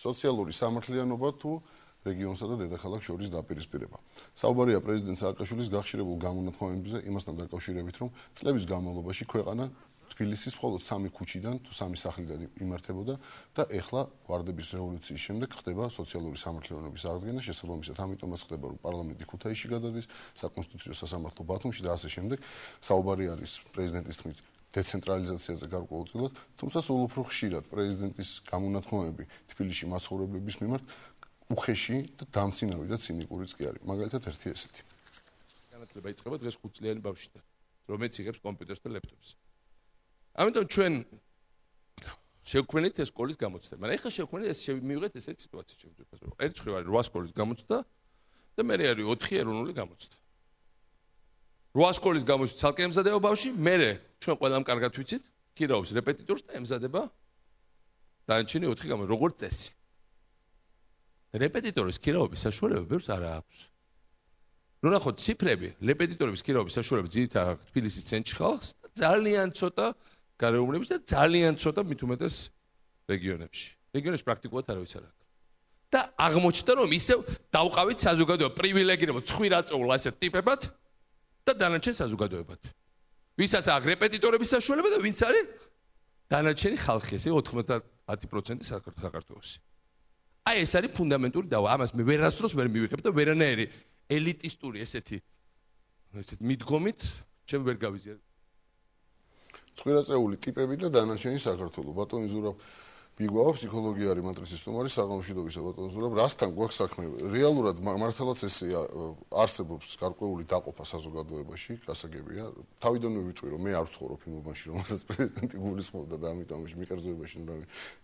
სოციალური სამართლიანობა თუ რეგიონსა და დედაქალაქს შორის დაპირისპირება. საუბარია პრეზიდენტ სააკაშვილის გახშირებულ გამონათქვამებზე იმასთან დაკავშირებით, რომ წლების განმავლობაში ქვეყანა თბილისის მხოლოდ 3 ქუჩიდან თუ 3 სახლიდან იმართებოდა და ეხლა ვარდების რევოლუციის შემდეგ ხდება სოციალური სამართლიანობის აღდგენა, შესაბამისად ამიტომაც ხდება, რომ პარლამენტი ქუთაისში გადადის, საკონსტიტუციო სასამართლო ბათუმში და ასე შემდეგ. საუბარი არის პრეზიდენტის თქმით დეცენტრალიზაციაზე გარკვეულწილად, თუმცა სულ უფრო ხშირად პრეზიდენტის გამონათქვამები თბილისში მაცხოვრებლების მიმართ უხეში და დამცინავი და ცინიკურიც კი არის. მაგალითად ერთი ესეთი. განათლება იწყება დღეს 5 წლიანი ბავშვიდან, რომელიც იღებს კომპიუტერს და ლეპტოპს. ამიტომ ჩვენ შევქმნით ეს სკოლის გამოცდა. მაგრამ ეხლა შევქმნით ეს მივიღეთ ესეთი სიტუაცია შემოგვიყვება. ერთ მხრივ არის 8 სკოლის გამოცდა და მე არის 4 ეროვნული გამოცდა. 8 სკოლის გამოცდა ცალკე ემზადება ბავშვი, მე ჩვენ ყველამ კარგად ვიცით, ქირაობს რეპეტიტორს და ემზადება დანარჩენი 4 გამოცდა, როგორც წესი. რეპეტიტორის ქირაობის საშუალება ბევრს არ აქვს. ნუ ნახოთ ციფრები, რეპეტიტორების ქირაობის საშუალება ძირითადად თბილისის ცენტრში ხალხს და ძალიან ცოტა გარეუბნების და ძალიან ცოტა მით უმეტეს რეგიონებში. რეგიონებში პრაქტიკულად არავის არ აქვს. და აღმოჩნდა, რომ ისევ დავყავით საზოგადოება პრივილეგირებად 9 აწეულ ასეთ ტიპებად და დანარჩენ საზოგადოებად. ვისაც აქვს რეპეტიტორების საშუალება და ვინც არის დანარჩენი ხალხი, ესე 90% საქართველოში. აი ეს არის ფუნდამენტური დავა. ამას მე ვერასდროს ვერ მივიღებ და ვერანაირი ელიტისტური ესეთი მიდგომით ჩემ ვერ გავიზიარებ. 9 აწეული ტიპები და დანარჩენი საქართველო. ბატონი ზურაბ მიგვაქვს ფსიქოლოგია არის მატრიცის სტუმარი საღამოშვიდობისა ბატონ ზურაბ. რასთან გვაქვს საქმე? რეალურად მართალაც ეს არსებობს გარკვეული დაყოფა საზოგადოებაში, გასაგებია. თავიდანვე ვიტყვი რომ მე არ ვცხოვრობ იმ უბანში, რომელსაც პრეზიდენტი გულისხმობდა და ამიტომ მიკერძოებაში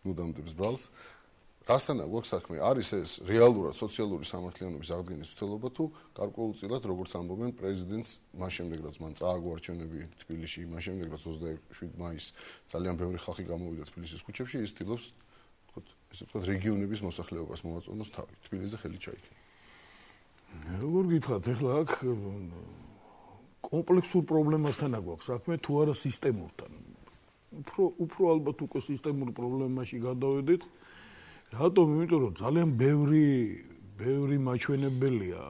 ნუდამდებს ბრალს. რასთან გვაქვს საქმე? არის ეს რეალურად სოციალური სამართლიანობის აღდგენის ცდელობა თუ გარკვეულწილად როგორც ამბობენ პრეზიდენტს მას შემდეგ რაც მან წააგო არჩევნები თბილისში, მას შემდეგ რაც 27 მაისს ძალიან ბევრი ხალხი გამოვიდა თბილისის ქუჩებში, ის ცდილობს ესე ვთქვათ რეგიონების მოსახლეობას მოაწონოს თავი. თბილისზე ხელი ჩაიქნა. როგორ გითხრათ, ეხლა აქ კომპლექსურ პრობლემასთან გვაქვს საქმე თუ არა სისტემურთან. უფრო ალბათ უკვე სისტემურ პრობლემაში გადავედით. რატომ? იმიტომ რომ ძალიან ბევრი მაჩვენებელია,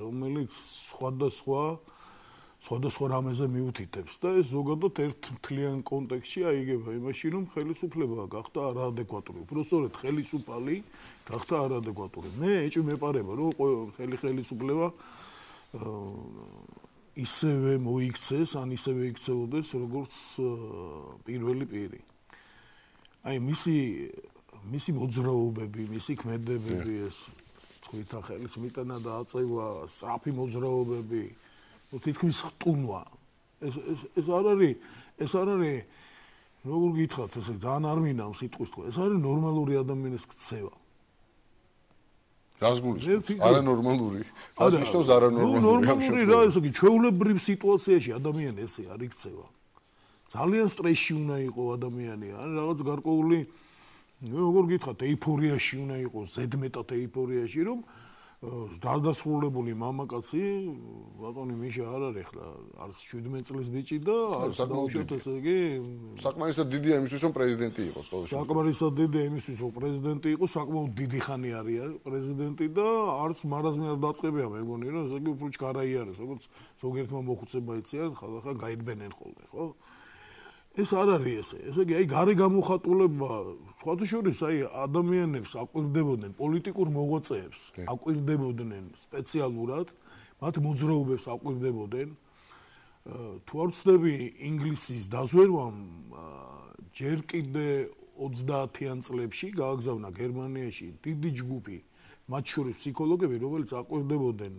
რომელიც სხვადასხვა რამეზე მიუთითებს და ეს ზოგადად ერთ მთლიან კონტექსტში აიგება იმაში, რომ ხელისუფლება გახდა არაადეკვატური. უბრალოდ ხელისუფალი გახდა არაადეკვატური. მე ეჭვი მეპარება, რომ ხელისუფლება ისევე მოიქცეს, ან ისევე იქცეოდეს, როგორც პირველი პირი. აი მისი მოძრაობები, მისი ქმედებები ეს თვითონ ხელის მიტანა და აწევა, სწრაფი მოძრაობები, თითქმის ხტუნვა. ეს არ არის როგორ გითხრათ, ესე ძალიან არ მინდა სიტყვის თქვა. ეს არის ნორმალური ადამიანის ქცევა. რას გულისხმობთ? არანორმალური. რას ნიშნავს არანორმალური? ნორმალური რა, ესე იგი ჩვეულებრივ სიტუაციაში ადამიანი ესე არ იქცევა. ძალიან სტრესში უნდა იყოს ადამიანი, ან რაღაც გარკვეული როგორ გითხრათ, ეიფორიაში უნდა იყოს, ზედმეტად ეიფორიაში, რომ დადასრულებული მამაკაცი, ბატონი მიშა არ არის ახლა, არც 17 წლის ბიჭი და არც დაუშვათ ესე იგი, საკმარისად დიდია იმისთვის, რომ პრეზიდენტი იყოს ყოველ შემთხვევაში. საკმარისად დიდია იმისთვის, რომ პრეზიდენტი იყოს, საკმაოდ დიდი ხანი არის პრეზიდენტი და არც მარაზმი არ დაწყებია, მე მგონი, რომ ესე იგი უფრო ჩქარაი არის, როგორც ზოგიერთმა მოხუცება იციან, ხალხა გაიდგნენ ხოლმე, ხო? ეს არ არის ესე. ესე იგი, აი გარე გამოხატულება, სხვათა შორის, აი ადამიანებს აკვირდებოდნენ, პოლიტიკურ მოღვაწეებს აკვირდებოდნენ სპეციალურად, მათ მოძრაობებს აკვირდებოდნენ. თუ არ ვცდები ინგლისის დაზვერვამ ჯერ კიდე 30-იან წლებში გააგზავნა გერმანიაში დიდი ჯგუფი, მათ შორის ფსიქოლოგები, რომელიც აკვირდებოდნენ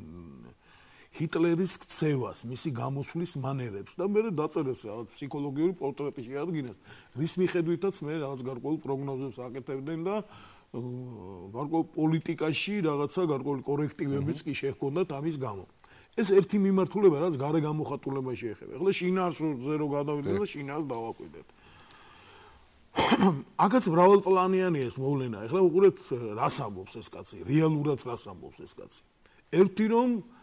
ჰიტლერის ქცევას, მისი გამოსვლის მანერებს და მე დაწერეს რაღაც ფსიქოლოგიური პორტრეტი შეადგინეს, რის მიხედვითაც მე რაღაც გარკვეულ პროგნოზებს აკეთებდნენ და გარკვეულ პოლიტიკაში რაღაცა გარკვეული კორექტივებიც კი შეჰქონდათ ამის გამო. ეს ერთი მიმართულება, რაც გარე გამოხატულებაში ეხება. ეხლა შინაარსზე რო გადავიდეთ და შინაარს დავაკვირდეთ. აქაც მრავალპლანიანი ეს მოვლენა. ეხლა უყურეთ რას ამბობს ეს კაცი, რეალურად რას ამბობს ეს კაცი. ერთი რომ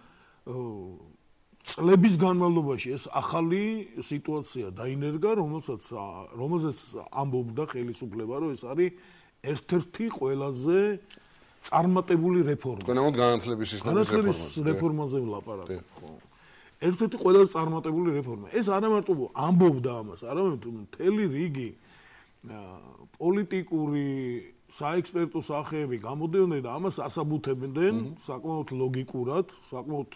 წლების განმავლობაში ეს ახალი სიტუაცია დაინერგა, რომელსაც ამბობდა ხელისუფლება, რომ ეს არის ერთ-ერთი ყველაზე წარმატებული რეფორმა. თქვენ ამოთ განათლების სისტემის რეფორმაზე ვლაპარაკობ, ხო. ერთ-ერთი ყველაზე წარმატებული რეფორმა. ეს არა მარტო ამბობდა ამას, არამედ მთელი რიგი პოლიტიკური საექსპერტო სახეები გამოდიოდნენ და ამას ასაბუთებდნენ საკმაოდ ლოგიკურად, საკმაოდ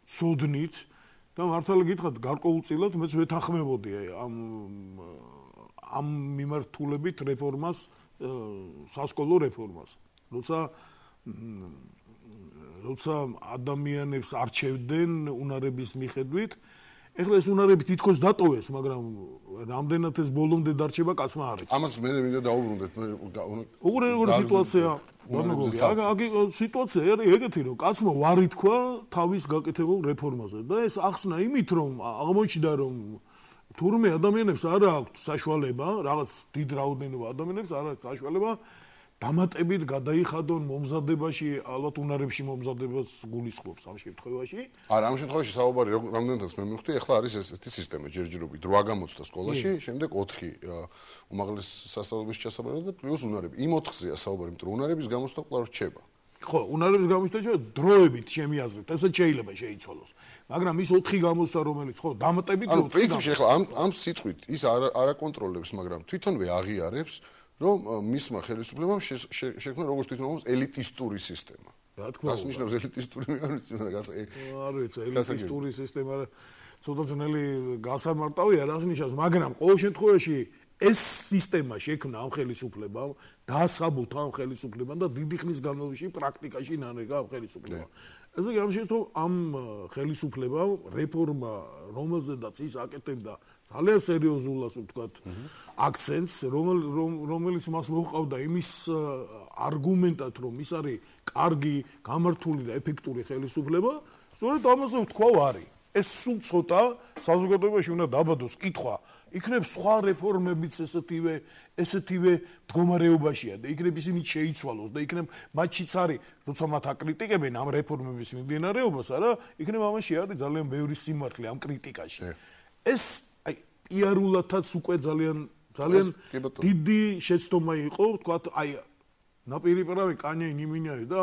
ცოდნით და მართალი გითხრათ, გარკვეულწილად მეც ვეთანხმებოდი ამ მიმართულებით რეფორმას, სასკოლო რეფორმას. როცა ადამიანებს არჩევდნენ უნარების მიხედვით, ეხლა ეს უნარები თითქოს დატოვეს, მაგრამ რამდენად ეს ბოლომდე დარჩება, კაცმა არ იცის. ამას მე მინდა დაუბრუნდეთ. როგორი სიტუაცია? სიტუაცია არის ეგეთი, რომ კაცმა ვარი თქვა თავის გაკეთებულ რეფორმაზე და ეს ახსნა იმით, რომ აღმოჩნდა, რომ თურმე ადამიანებს არ აქვს საშუალება, რაღაც დიდ რაოდენობა ადამიანებს არ აქვს საშუალება დამატებით გადაიხადონ მომზადებაში, ალბათ უნარებში მომზადებას გულისხმობს ამ შემთხვევაში. არა, ამ შემთხვევაში საუბარი რამდენადაც მე მივხვდი, ეხლა არის ესეთი სისტემა, ჯერჯერობით 8 გამოცდა სკოლაში, შემდეგ 4 უმაღლეს სასწავლებლის ჩასაბარად და პლუს უნარები. იმ 4-ზეა საუბარი, იმიტომ რომ უნარების გამოცდა კვლავ რჩება. ხო, უნარების გამოცდა დროებით ჩემი აზრით, ესეც შეიძლება შეიცვალოს. მაგრამ ის 4 გამოცდა, რომელიც ხო, დამატებით 4 პრინციპში ეხლა ამ სიტყვით ის არ აკონტროლებს, მაგრამ თვითონვე აღიარებს რომ მისმა ხელისუფლებამ შექმნა როგორც თვითონ მომს ელიტისტური სისტემა. რა თქმა უნდა. რას ნიშნავს ელიტისტური? არ ვიცი, ელიტისტური სისტემა ცოტა ძნელი გასამარტავია, რას ნიშნავს, მაგრამ ყოველ შემთხვევაში ეს სისტემა შექმნა ამ ხელისუფლებამ, დაასაბუთა ამ ხელისუფლებამ და დიდი ხნის განმავლობაში პრაქტიკაში ნანეგა ამ ხელისუფლებამ. ესე იგი, ამ ხელისუფლებამ რეფორმა, რომელზედაც ის აკეთებდა ძალიან სერიოზულ, ასე ვთქვათ, აქცენტს, რომელიც მას მოჰყავდა იმის არგუმენტად, რომ ის არის კარგი, გამართული და ეფექტური ხელისუფლება, სწორედ ამაზე ვთქვა ვარი. ეს სულ ცოტა საზოგადოებაში უნდა დაბადოს კითხვა, იქნებ სხვა რეფორმებიც ესეთივე მდგომარეობაშია და იქნებ ისინი შეიცვალოს და იქნებ მათშიც არის, როცა მათ აკრიტიკებენ ამ რეფორმების მიმდინარეობას, არა, იქნებ ამაში არის ძალიან ბევრი სიმართლე ამ კრიტიკაში. ეს პიარულათაც უკვე ძალიან დიდი შეცდომა იყო, ვთქვათ, ნაპირიპირავი კანიე ნიმინიარი და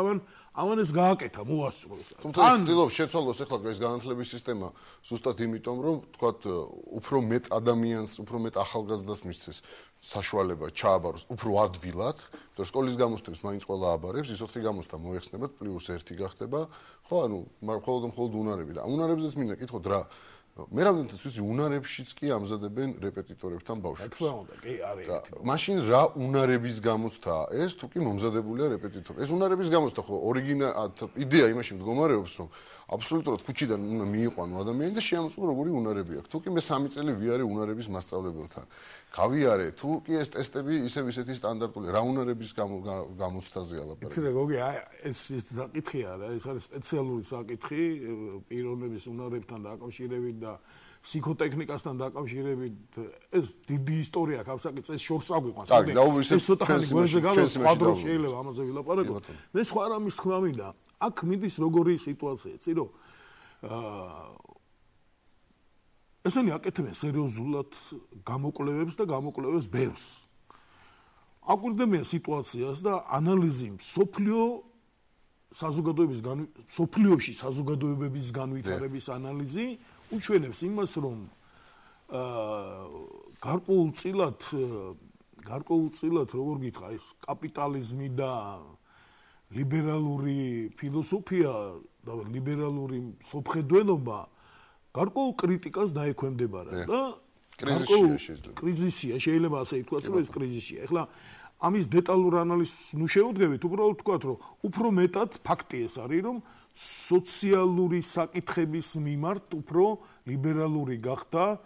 ამან ეს გააკეთა, მოასწროს. თუმცა ცდილობს შეცვალოს ეხლა ეს განათლების სისტემა ზუსტად იმიტომ, რომ ვთქვათ, უფრო მეტ ადამიანს, უფრო მეტ ახალგაზრდას მისცეს საშუალება ჩააბაროს უფრო ადვილად, იმიტომ სკოლის გამოცდებს მაინც ყველა აბარებს, ის 4 გამოცდა მოიხსნებათ, პლუს 1 გახდება, ხო, მხოლოდ უნარები და უნარებზეც მინდა კითხოთ რა მე რამდენადაც ვიცი უნარებშიც კი ამზადებენ რეპეტიტორებთან ბავშვებს. რა თქმა უნდა, კი არის. მაშინ რა უნარების გამოცდაა ეს თუ კი მომზადებულია რეპეტიტორი. ეს უნარების გამოცდა ხო იდეა იმაში მდგომარეობს, რომ აბსოლუტურად ქუჩიდან უნდა მიიყვანო ადამიანი და შეამოწმო როგორი უნარები აქვს. თუ კი მე 3 წელი ვიარე უნარების მასწავლებელთან. გავიარე, თუ კი ეს ტესტები ისეთი სტანდარტული რა უნარების გამოცდაზეა ლაპარაკი. იცი რა გოგი, ეს საკითხი არა, ეს არის სპეციალური საკითხი პიროვნების უნარებთან დაკავშირებით და ფსიქოტექნიკასთან დაკავშირებით. ეს დიდი ისტორია აქვს ამ საკითხს, ეს შორს აგვიყვანს. ეს ცოტა ხანი გვერდზე გავას, სხვა დროს შეიძლება ამაზე ვილაპარაკოთ. მე სხვა რამის თქმა მინდა. აქ მიდის როგორი სიტუაცია, იცი რომ ესენი აკეთებენ სერიოზულად გამოკვლევებს და გამოკვლევებს ბევრს. აკვირდებიან სიტუაციას და ანალიზი სოფლიოში საზოგადოებების განვითარების ანალიზი უჩვენებს იმას, რომ გარკვეულწილად როგორ გითხრა, ეს კაპიტალიზმი და ლიბერალური ფილოსოფია და λიბერალური სოფხედველობა გარკვეულ კრიტიკას დაექვემდებარა და კრიზისია შეიძლება ასე ითქვას, რომ ეს კრიზისია. ეხლა ამის დეტალურ ანალიზს ნუ შევუდგებით, უბრალოდ ვთქვათ, რომ უფრო მეტად ფაქტი ეს არის, რომ სოციალური საკითხების მიმართ უფრო ლიბერალური გახდა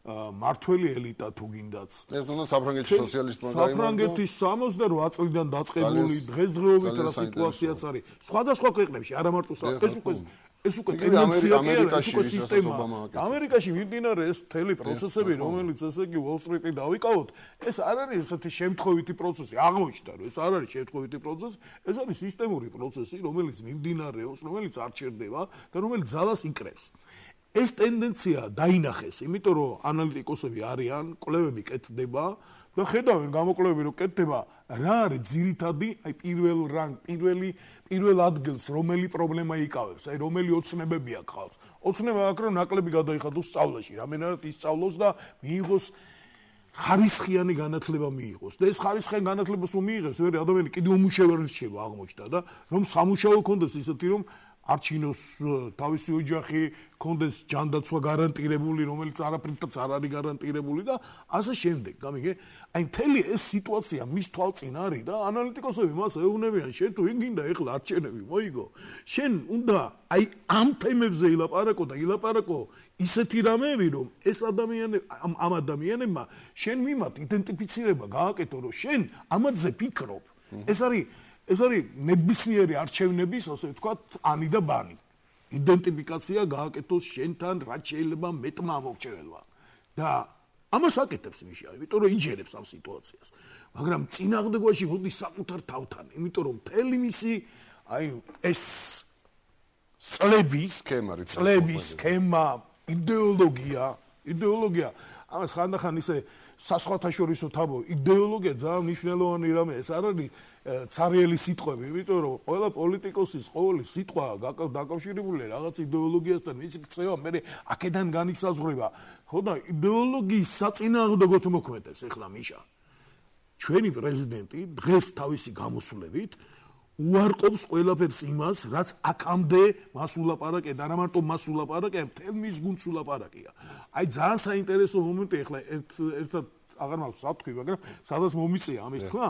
მართველი ელიტა თუ გინდაც. ერთადერთი საფრანგეთის სოციალისტმა გაიმარჯვა. საფრანგეთის 68 წლიდან დაწყებული დღესდღეობით რა სიტუაციაც არის. სხვადასხვა ქვეყნებში, არა მარტო ეს უკვე ტენდენცია კი არა, ეს უკვე სისტემა. ამერიკაში მიმდინარე ეს მთელი პროცესები, რომელიც ესე იგი უოლ-სტრიტი დავიკავოთ, ეს არ არის ესეთი შემთხვევითი პროცესი. აღმოჩნდა, რომ ეს არ არის შემთხვევითი პროცესი, ეს არის სისტემური პროცესი, რომელიც მიმდინარეობს, რომელიც არ ჩერდება და რომელიც ძალას იკრებს. ეს ტენდენცია დაინახეს, იმიტომ რომ ანალიტიკოსები არიან, კვლევები კეთდება და ხედავენ გამოკვლევები რომ კეთდება, რა არის ძირითადი, აი პირველ ადგილს რომელი პრობლემა იკავებს, აი რომელი ოცნებები აქვს ხალხს. ოცნება აქვს რომ ნაკლები გადაიხადოს სწავლაში, რამენად ისწავლოს და მიიღოს ხარისხიანი განათლება მიიღოს. და ეს ხარისხიანი განათლებას რომ მიიღებს, ვერი ადამიანი კიდევ უმუშევარი რჩება აღმოჩნდა და რომ სამუშაო კონდეს ისეთი რომ არჩინოს თავისი ოჯახი, კონდეს ჯანდაცვა გარანტირებული, რომელიც არაფრითაც არ არის გარანტირებული და ასე შემდეგ. გამიგე? აი მთელი ეს სიტუაცია მის თვალწინ არის და ანალიტიკოსები მას ეუბნებიან, შენ თუ გინდა ეხლა არჩენები მოიგო, შენ უნდა აი ამ თემებზე ილაპარაკო და ილაპარაკო ისეთი რამეები, რომ ეს ადამიანები ამ ადამიანებმა შენ მიმართ იდენტიფიცირება გააკეთო, რომ შენ ამაზე ფიქრობ. ეს არის ნებისმიერი არჩევნების, ასე ვთქვათ, ანი და ბანი. იდენტიფიკაცია გააკეთოს შენთან, რაც შეიძლება მეტმა ამორჩეველმა. და ამას აკეთებს მიშა, იმიტომ რომ ინჟერებს ამ სიტუაციას. მაგრამ წინააღმდეგობაში მოდის საკუთარ თავთან, იმიტომ რომ მთელი მისი აი ეს წლების სქემა, იდეოლოგია, ამას ხანდახან ისე სასხვათაშორისო თაბო, იდეოლოგია ძალიან მნიშვნელოვანი რამე, ეს არ არის ცარიელი სიტყვები, იმიტომ რომ ყველა პოლიტიკოსის ყოველი სიტყვა დაკავშირებულია რაღაც იდეოლოგიასთან, მისი ქცევა მე აქედან განისაზღვრება. ხო და იდეოლოგიის საწინააღმდეგოდ მოქმედებს ახლა მიშა. ჩვენი პრეზიდენტი დღეს თავისი გამოსვლებით უარყოფს ყველაფერს იმას, რაც აქამდე მას ულაპარაკე და არა მარტო მას ულაპარაკე, მთელ მის გუნდს ულაპარაკია. აი ძალიან საინტერესო მომენტი ახლა ერთად აღარ მაქვს სათქვი, მაგრამ სადაც მომიწია ამის თქვა.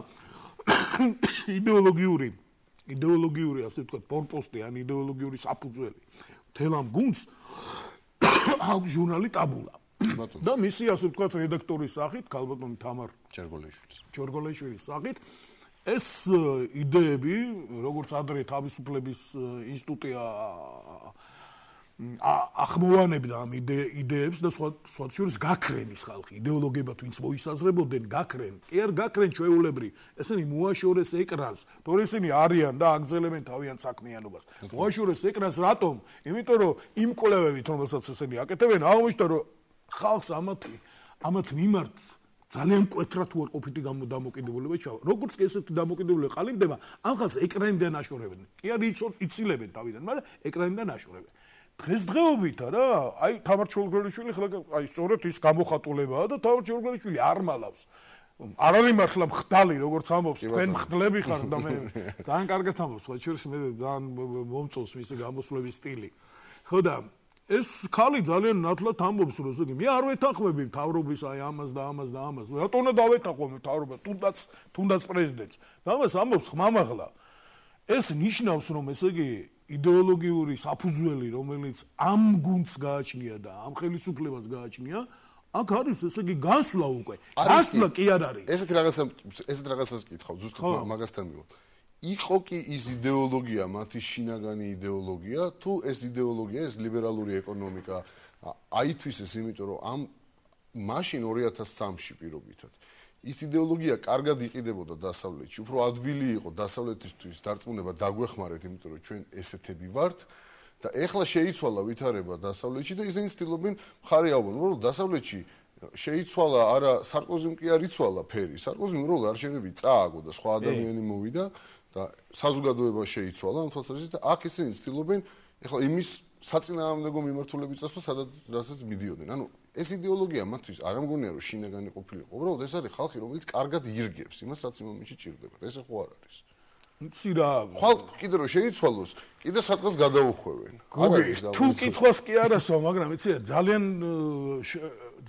იდეოლოგიური ასე ვთქვათ, ფორპოსტი ან იდეოლოგიური საფუძველი. მთელ ამ გუნდს აქვს ჟურნალი ტაბულა. და მისი ასე ვთქვათ რედაქტორის სახით, ქალბატონი თამარ ჯორგოლეიშვილის სახით ეს იდეები, როგორც ადრე თავისუფლების ინსტიტუტი ახმოვანებდა ამ იდეებს და სხვა შორის გაქრენის ხალხი, იდეოლოგიებად ვინც მოისაზრებოდნენ, გაქრენ ჩვეულებრივ, ესენი მოაშორეს ეკრანს, თორე ისინი არიან და აგზელებენ თავიანთ საქმიანობას. მოაშორეს ეკრანს რატომ? იმიტომ რომ იმ კვლევებით, რომელსაც ესენი აკეთებენ, აღმოჩნდა რომ ხალხს ამათ მიმართ ძალიან მკვეთრად უარყოფითი დამოკიდებულება ჩავა. როგორც კი ესეთი დამოკიდებულება ყალიბდება, ამ ხალხს ეკრანიდან აშორებენ. კი არ იცილებენ თავიდან, მაგრამ ეკრანიდან აშორებენ. დღესდღეობით არა, აი თამარ ჯორგოლეიშვილი ხლა აი სწორედ ის გამოხატულებაა და თამარ ჯორგოლეიშვილი არ მალავს. არ არის მართლა მხდალი, როგორც ამბობს, თქვენ მხდლები ხართ და მე ძალიან კარგად ამბობს, სხვა შორის მე ძალიან მომწონს მისი გამოსვლების სტილი. ხო და ეს ხალი ძალიან ნათლად ამბობს, რომ ესე იგი მე არ ვეთანხმები მთავრობის აი ამას და ამას და ამას. რატო უნდა დავეთანხმო მთავრობას, თუნდაც პრეზიდენტს. და ამას ამბობს ხმამაღლა. ეს ნიშნავს, რომ ესე იგი იდეოლოგიური საფუძველი, რომელიც ამ გუნდს გააჩნია და ამ ხელისუფლებას გააჩნია, აქ არის ესე იგი გასვლა უკვე. გასვლა კი არ არის. ესეთ რაღაცას კითხავ, ზუსტად მაგასთან მივიდე. იყო კი ის იდეოლოგია, მათი შინაგანი იდეოლოგია, თუ ეს იდეოლოგია, ეს ლიბერალური ეკონომიკა აითვისეს, იმიტომ რომ ამ მაშინ 2003-ში პირობითად ის იდეოლოგია კარგად იყიდებოდა დასავლეთში, უფრო ადვილი იყო დასავლეთისთვის დარწმუნება დაგვეხმარეთ, იმიტომ რომ ჩვენ ესეთები ვართ და ეხლა შეიცვალა ვითარება დასავლეთში და ისინი ცდილობენ მხარი აუგონ, რომ დასავლეთში შეიცვალა არა სარკოზიმ კი არ იცვალა ფერი, სარკოზიმ რომ არჩევნები წააგო და სხვა ადამიანი მოვიდა და საზოგადოება შეიცვალა ამ თვალსაზრისით და აქ ისინი ცდილობენ ეხლა იმის საწინააღმდეგო მიმართულებით წასვლა, სადაც მიდიოდნენ. ანუ ეს იდეოლოგია მათთვის არ ამგონია რომ შინაგანი ყოფილიყო. უბრალოდ ეს არის ხალხი, რომელიც კარგად ირგებს იმას, რაც იმ მომენტში ჭირდებათ. ესე ხო არ არის. იცი რა, ხალხი კიდე რომ შეიცვალოს, კიდე სადღაც გადაუხვევენ. არ არის და თუ კითხვას კი არასო, მაგრამ იცი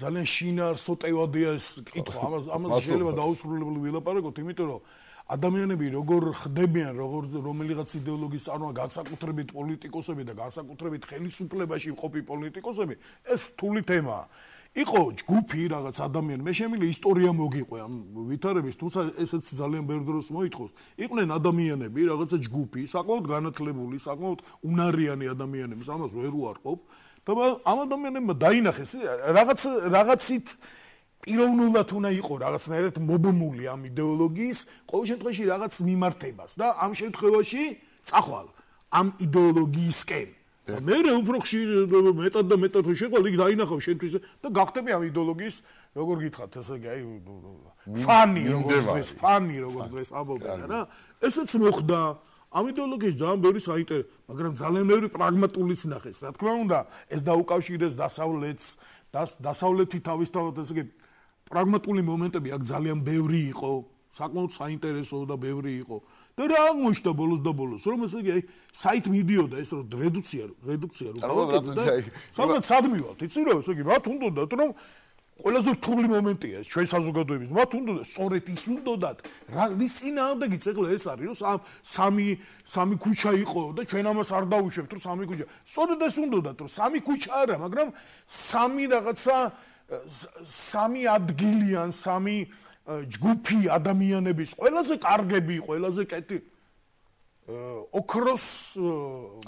ძალიან შინაარსოტევადია ეს კითხვა. ამას შეიძლება დაუსრულებელი ვილაპარაკოთ, იმიტომ რომ ადამიანები როგორ ხდებიან, რომელიღაც იდეოლოგიის წარმოება, განსაკუთრებით პოლიტიკოსები და განსაკუთრებით ხელისუფლებაში მყოფი პოლიტიკოსები, ეს რთული თემაა. იყო ჯგუფი რაღაც ადამიანი, მე შემიძლია ისტორია მოგიყვე ამ ვითარების, თუმცა ესეც ძალიან ბევრ დროს მოითხოვს. იყვნენ ადამიანები, რაღაცა ჯგუფი, საკმაოდ განათლებული, საკმაოდ უნარიანი ადამიანები, ამას ვერ უარყოფ და ამ ადამიანებმა დაინახეს რაღაცით პიროვნულად უნდა იყო რაღაცნაირად მობმული ამ იდეოლოგიის, ყოველ შემთხვევაში რაღაც მიმართებას და ამ შემთხვევაში წახვალ ამ იდეოლოგიისკენ. მე უფრო ხშირ მეტად და მეტად რო შეყვალ იქ დაინახავ შენთვის და გახდები ამ იდეოლოგიის როგორ გითხრათ ესე იგი აი ფანი როგორ დღეს ამბობენ რა ესეც მოხდა ამ იდეოლოგიის ძალიან ბევრი საინტერესო მაგრამ ძალიან ბევრი პრაგმატულიც ნახეს რა თქმა უნდა ეს დაუკავშირეს დასავლეთს დასავლეთი თავისთავად ესე იგი პრაგმატული მომენტები აქ ძალიან ბევრი იყო საკმაოდ საინტერესო და ბევრი იყო და რა აღმოჩნდა ბოლოს და ბოლოს რომ ესე იგი აი საით მიდიოდა ეს რომ რედუქცია სადაც სადმივალთ იცი რომ ესე იგი მათ უნდათ რომ ყველაზე რთული მომენტია ეს ჩვენ საზოგადოების მათ უნდათ სწორედ ის უნდათ რის წინააღმდეგიც ეხლა ეს არის რომ სამი ქუჩა იყო და ჩვენ ამას არ დავუშვებთ რომ სამი ქუჩა სწორედ ეს უნდათ რომ სამი ქუჩა არა მაგრამ სამი რაღაცა სამი ადგილიან სამი ჯგუფი ადამიანების ყველაზე კარგები ყველაზე კეთი ოქროს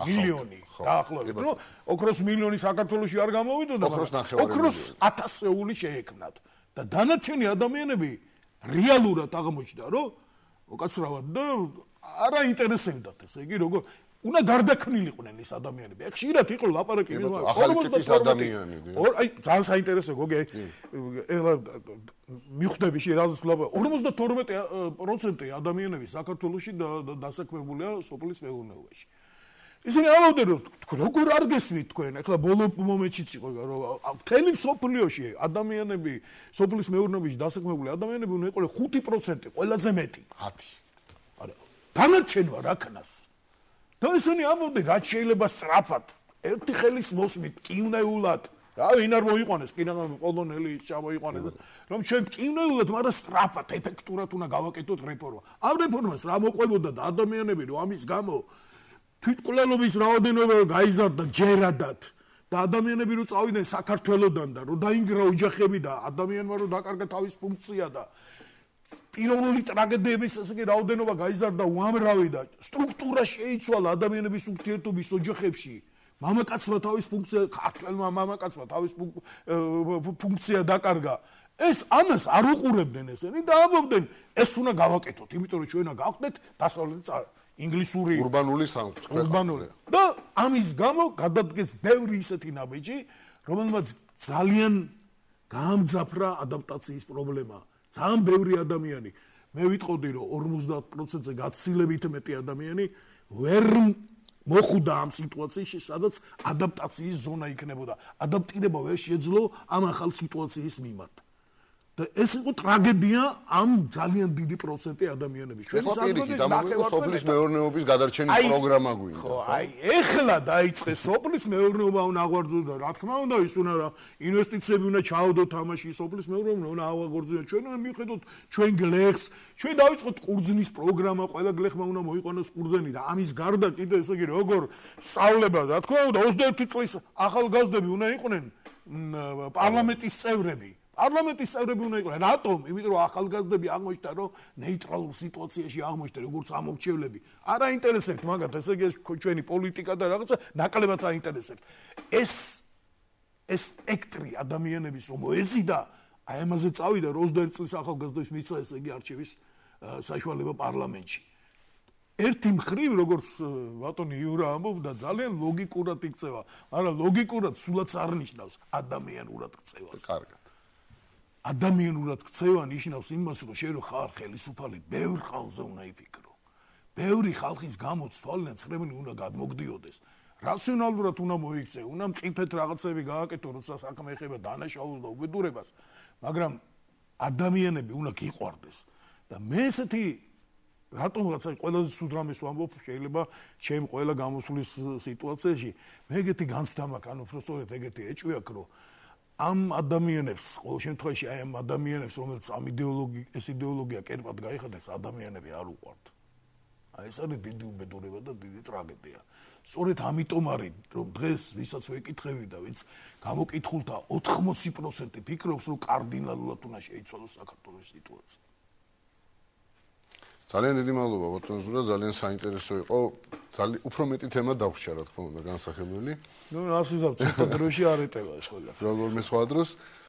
მილიონი დაახლოებით რომ ოქროს მილიონი საქართველოში არ გამოვიდოდა ოქროს 1000-ეული შეექმნათ და დანარჩენი ადამიანები რეალურად აღმოჩნდა რომ უკაცრავად და არა ინტერესებდათ ესე იგი როგორ უნდა გარდაქმნილიყვნენ ეს ადამიანები. აქ ხშირად იყო ლაპარაკი ახალი ტიპის ადამიანები. აი ძალიან საინტერესო გოგი ეხლა მიხვდები შენ 52% ადამიანები საქართველოში დასაქმებულია სოფლის მეურნეობაში. ისინი ამბობდნენ რომ როგორ არ გესმით თქვენ ახლა ბოლო მომენტშიც იყო რომ მთელი სოფლიოში ადამიანები სოფლის მეურნეობაში დასაქმებული ადამიანები უნდა იყოს 5% ყველაზე მეტი. 10. არა დანარჩენვა რაკნას და ისინი ამბობდნენ რაც შეიძლება სწრაფად ერთი ხელის მოსმით კივნეულად რა ვინ არ მოიყვანეს კი რა პოლონელი ჩამოიყვანეს რომ ჩვენ კივნეულად მაგრამ სწრაფად ეფექტურად უნდა გავაკეთოთ რეფორმა ამ რეფორმას რა მოყვებოდა და ადამიანები რომ ამის გამო თვითმკვლელობის რაოდენობა გაიზარდა ჯერადად და ადამიანები რომ წავიდნენ საქართველოსდან და რომ დაინგრა ოჯახები და ადამიანმა რომ დაკარგა თავის ფუნქცია და პიროვნული ტრაგედიების ასე იგი რაოდენობა გაიზარდა უამრავი და სტრუქტურა შეიცვალა ადამიანების ურთიერთობის ოჯახებში მამაკაცმა თავის ფუნქცია ქართველმა მამაკაცმა თავის ფუნქცია დაკარგა ეს ამას არ უყურებდნენ ესენი და ამბობდნენ ეს უნდა გავაკეთოთ იმიტომ რომ ჩვენ გავხდეთ დასავლეთ ინგლისური ურბანული სამყარო და ამის გამო გადადგეს ბევრი ისეთი ნაბიჯი რომელმაც ძალიან გაამძაფრა ადაპტაციის პრობლემა ძალიან ბევრი ადამიანი მე ვიტყოდი რომ 50%-ზე გაცილებით მეტი ადამიანი ვერ მოხვდა ამ სიტუაციაში სადაც ადაპტაციის ზონა იქნებოდა ადაპტირება ვერ შეძლო ამ ახალ სიტუაციის მიმართ და ეს იყო ტრაგედია ამ ძალიან დიდი პროცენტი ადამიანების ჩვენი საზოგადოების სოფლის მეურნეობის გადარჩენის პროგრამა გვინდა ხო აი ეხლა დაიწყეს სოფლის მეურნეობა უნდა აღვარძოს და რა თქმა უნდა ის უნდა რა ინვესტიციები უნდა ჩაავდოთ თამაში სოფლის მეურნეობა უნდა აღვარძოს ჩვენ უნდა მივხედოთ ჩვენ გლეხს ჩვენ დავიწყოთ ყურძნის პროგრამა ყველა გლეხმა უნდა მოიყვანოს ყურძენი და ამის გარდა კიდე ესე იგი როგორ სწავლება რა თქმა უნდა 21 წლის ახალგაზრდები უნდა იყვნენ პარლამენტის წევრები პარლამენტის წევრები უნდა იყვნენ. რატომ? იმიტომ რომ ახალგაზრდები აღმოჩნდა, რომ ნეიტრალურ სიტუაციაში აღმოჩნდა, როგორც ამორჩევლები. არ აინტერესებთ მაგათ, ესე იგი ჩვენი პოლიტიკა და რაღაცა ნაკლებად აინტერესებთ. ეს სპექტრი ადამიანების რომ მოეზიდა, აი ამაზე წავიდა 21 წლის ახალგაზრდების მიცა ესე იგი არჩევის საშუალება პარლამენტში. ერთი მხრივ როგორც ბატონი იურა ამბობდა, ძალიან ლოგიკურად იქცევა, მაგრამ ლოგიკურად სულაც არ ნიშნავს ადამიანურად ქცევას. კარგად. ადამიანურად ქცევა ნიშნავს იმას, რომ შენ რო ხარ ხელისუფალი, ბევრ ხალხზე უნდა იფიქრო. ბევრი ხალხის გამოცვალენ ცხრემლი უნდა გადმოგდიოდეს. რაციონალურად უნდა მოიქცე, უნდა მყიფეთ რაღაცები გააკეთო, როცა საქმე ეხება დანაშაულს და უბედურებას, მაგრამ ადამიანები უნდა გიყვარდეს. და მე ესეთი რატომღაც აი ყველაზე სულ რამეს ვამბობ, შეიძლება ჩემ ყველა გამოსვლის სიტუაციაში მე ეგეთი განცდა მაქვს, ანუ უფრო სწორედ ეგეთი ეჭვი აქვს, რომ ამ ადამიანებს, ყოველ შემთხვევაში აი ამ ადამიანებს, რომელიც ამ ეს იდეოლოგია კერპად გაიხადა, ეს ადამიანები არ უყვართ. აი ეს არის დიდი უბედურება და დიდი ტრაგედია. სწორედ ამიტომ არის, რომ დღეს ვისაც ვეკითხები და ვინც გამოკითხულთა 80% ფიქრობს, რომ კარდინალურად უნდა შეიცვალოს საქართველოს სიტუაცია. ძალიან დიდი მადლობა ბატონ ზურა, ძალიან საინტერესო იყო. უფრო მეტი თემა დაგვჭირა, რა თქმა უნდა, განსახილველი. ნუ ასიზავთ, ცოტა დროში არ ეტევა ეს ყველა. როგორმე სხვა დროს